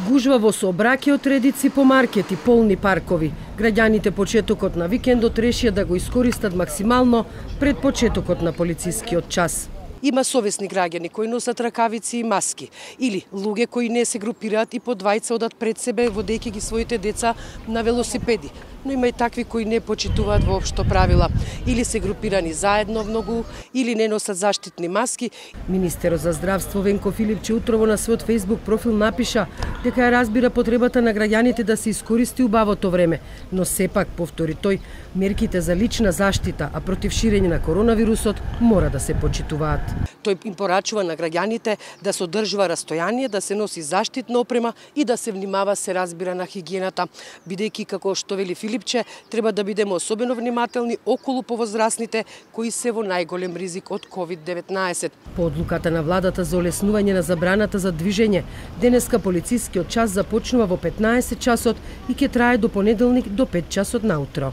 Гужва во сообраќајот, редици по маркети, полни паркови. Граѓаните почетокот на викендот решија да го искористат максимално пред почетокот на полицискиот час. Има совесни граѓани кои носат ракавици и маски, или луѓе кои не се групираат и по двајца одат пред себе водејќи ги своите деца на велосипеди. Но има и такви кои не почитуваат воопшто правила, или се групирани заедно многу, или не носат заштитни маски. Министерот за здравство Венко Филипче утрово на својот Facebook профил напиша дека ја разбира потребата на граѓаните да се искористи убавото време, но сепак, повтори тој, мерките за лична заштита, а против ширење на коронавирусот мора да се почитуваат. Тој им порачува на граѓаните да се одржува растојание, да се носи заштитна опрема и да се внимава, се разбира, на хигиената, бидејќи, како што вели Филипче, треба да бидеме особено внимателни околу повозрасните кои се во најголем ризик од COVID-19. По одлуката на владата за олеснување на забраната за движење, денеска полицискиот час започнува во 15 часот и ќе трае до понеделник до 5 часот наутро.